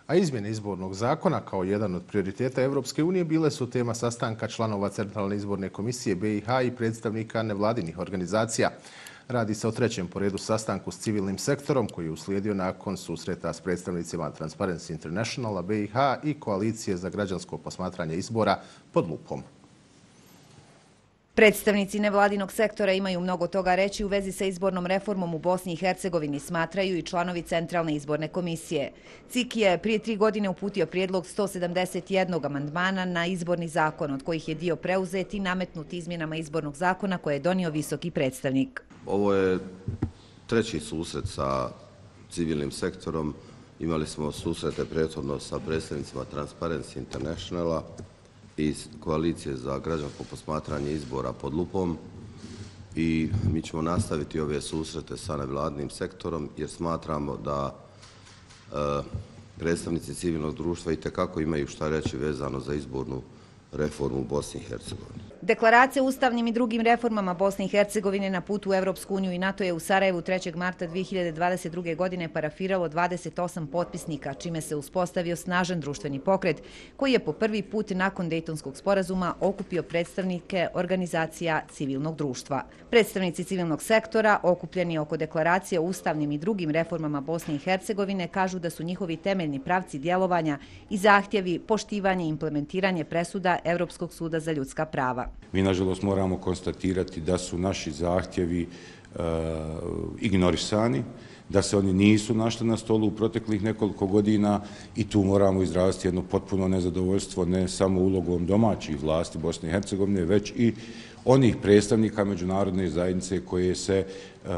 A izmjene izbornog zakona kao jedan od prioriteta Europske unije bile su tema sastanka članova Centralne izborne komisije BiH i predstavnika nevladinih organizacija. Radi se o trećem po redu sastanku s civilnim sektorom koji je uslijedio nakon susreta s predstavnicima Transparency Internationala BiH i Koalicije za građansko posmatranje izbora pod lupom. Predstavnici nevladinog sektora imaju mnogo toga reći u vezi sa izbornom reformom u Bosni i Hercegovini, smatraju i članovi Centralne izborne komisije. CIK je prije 3 godine uputio prijedlog 171 amandmana na izborni zakon, od kojih je dio preuzet i nametnut izmjenama izbornog zakona koje je donio visoki predstavnik. Ovo je treći susret sa civilnim sektorom. Imali smo susrete prethodno sa predstavnicima Transparency Internationala i Koalicije za građansko posmatranje izbora pod lupom i mi ćemo nastaviti ove susrete sa nevladinim sektorom jer smatramo da predstavnici civilnog društva itekako imaju šta reći vezano za izbornu reformu u Bosni i Hercegovini. Deklaracija o ustavnim i drugim reformama Bosne i Hercegovine na putu u Europsku uniju i NATO je u Sarajevu 3. marta 2022. godine parafiralo 28 potpisnika, čime se uspostavio snažan društveni pokret koji je po prvi put nakon Dejtonskog sporazuma okupio predstavnike organizacija civilnog društva. Predstavnici civilnog sektora, okupljeni oko deklaracije o ustavnim i drugim reformama Bosne i Hercegovine, kažu da su njihovi temeljni pravci djelovanja i zahtjevi poštivanje i implementiranje presuda Europskog suda za ljudska prava. Mi, nažalost, moramo konstatirati da su naši zahtjevi ignorisani, da se oni nisu našli na stolu u proteklih nekoliko godina i tu moramo izraziti jedno potpuno nezadovoljstvo ne samo ulogom domaćih vlasti Bosne i Hercegovine, već i onih predstavnika međunarodne zajednice koje se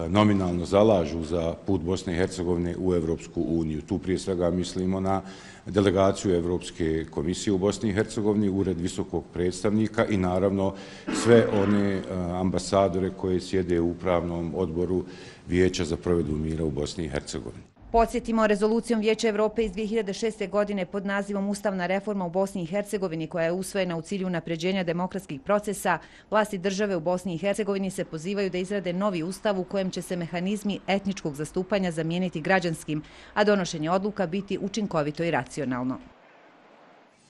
nominalno zalažu za put Bosne i Hercegovine u Europsku uniju. Tu prije svega mislimo na delegaciju Europske komisije u Bosni i Hercegovini, ured visokog predstavnika i naravno sve one ambasadore koje sjede u upravnom odboru Vijeća za provedbu mira u Bosni i Hercegovini. Podsjetimo, rezolucijom Vijeća Evrope iz 2006. godine pod nazivom Ustavna reforma u Bosni i Hercegovini, koja je usvojena u cilju unapređenja demokratskih procesa, vlasti države u Bosni i Hercegovini se pozivaju da izrade novi ustav u kojem će se mehanizmi etničkog zastupanja zamijeniti građanskim, a donošenje odluka biti učinkovito i racionalno.